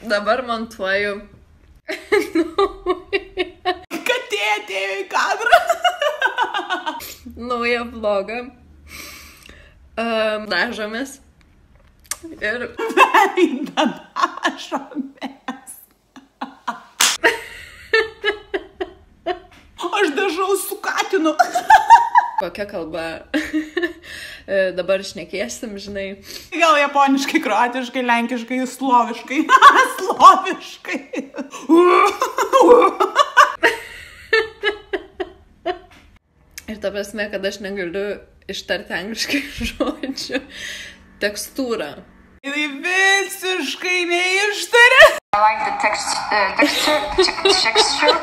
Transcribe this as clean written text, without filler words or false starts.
Dabar montuoju. Katė atėjo į kadrą. Naują vlogą. Dažomės. Ir... Veidą dažomės. Aš dažau su katinu. Kokia kalba dabar šnekėsim, žinai. Gal japoniškai, kroatiškai, lenkiškai, sloviškai. Sloviškai. Ir ta prasme, kad aš negaliu ištarti angliškai žodžių. Tekstūrą. Tai visiškai neištarė. I like the texture. Texture.